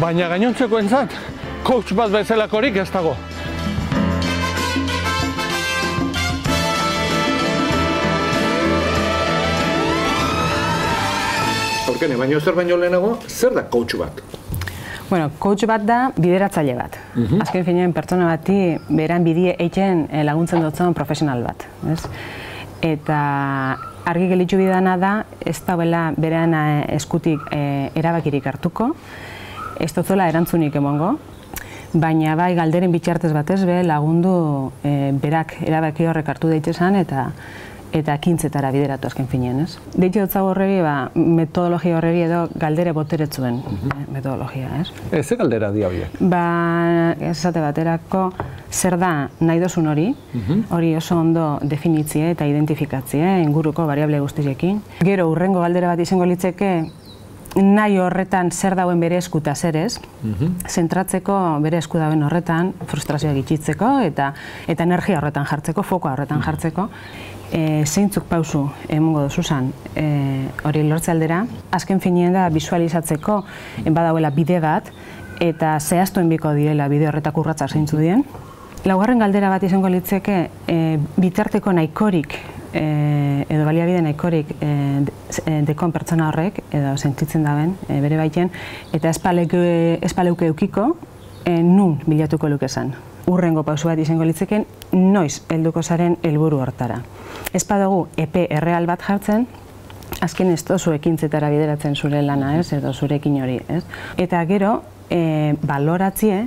Baina gainontzekoentzat, coach bat bezalakorik ez dago. Aurkene, baino zer baino lehenago, zer da coach bat? Bueno, coach bat da bideratzaile bat. Azken finean pertsona bati beran bidie egiten laguntzen dutzen profesional bat. Eta argi gelitzu bidana da, ez dauela beran eskutik erabakirik hartuko, ez duzuela erantzunik emongo, baina bai galderen bitxartez batez be lagundu berak erabaki horrek hartu daitezan eta ekintzetara bideratu azken finean, ez? Deitxe dutzago horregi, metodologia horregi edo galdere boteretzuen metodologia, ez? Ze galdera di horiek? Esate baterako, zer da nahi dozun hori oso ondo definitzie eta identifikatzie inguruko variable guztiekin. Gero, urrengo galdera bat izango litzeke, nahi horretan zer dauen bere esku eta zer ez, zentratzeko bere esku dauen horretan, frustrazioa gitxitzeko eta energia horretan jartzeko, fokoa horretan jartzeko, zeintzuk pausu emongo duzuzan hori lortze aldera, azken finean da bisualizatzeko badauela bide bat eta zehaztuen biko direla bide horretak urratza zeintzu dien. Laugarren galdera bat izango litzeke bitarteko nahikorik edo baliabide nahikorik dekon pertsona horrek edo sentitzen daben bere baiten eta espaleuke eukiko nun bilatuko lukezan. Urrengo pausu bat izango litzeken noiz helduko zaren helburu hortara. Ez badugu epe erreal bat jartzen, azken ez dozu ekintzetara bideratzen zure lana, ez, edo zurekin hori, ez? Eta gero, baloratzie,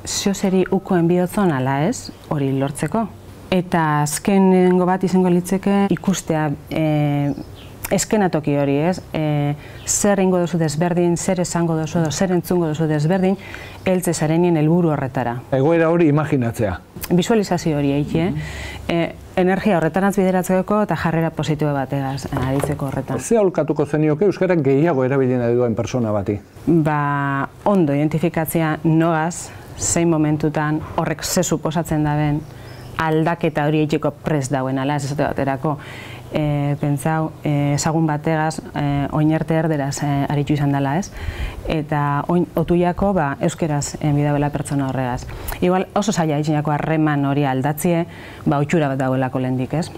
ziozeri ukoen bihotzon ala ez, hori lortzeko. Eta azkenengo bat izango litzeke ikustea eskenatoki hori, ez? Zer ingo duzu desberdin, zer esango duzu edo zer entzungo duzu desberdin, heltze zarenien helburu horretara. Egoera hori imaginatzea. Bisualizazio hori egitea, energia horretarantz bideratzeko eta jarrera positibo bategaz aritzeko horretan. Ze aholkatuko zenioke euskarak gehiago erabilien duen persona bati? Ondo identifikatzea nogaz, zein momentutan horrek ze suposatzen daben aldaketa hori egiteko prest dauen ala, ez esate baterako. Pentsau, ezagun bategaz, oinerte erderaz aritu izan dela ez, eta otuiako euskeraz bidauela pertsona horregaz. Igual oso zaila itxinako harreman hori aldatzie, otxura bat dauelako lehendik ez.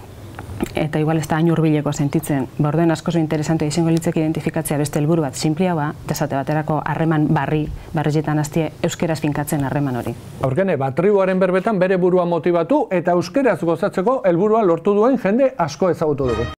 Eta igual ez da hain hurbileko sentitzen, orduen asko interesantea izango litzek identifikatzea beste helburu bat sinplia esate baterako harreman barrietan hastie euskeraz finkatzen harreman hori. Aurkene, tribuaren berbetan bere burua motibatu eta euskeraz gozatzeko helburua lortu duen jende asko ezagutu dugu.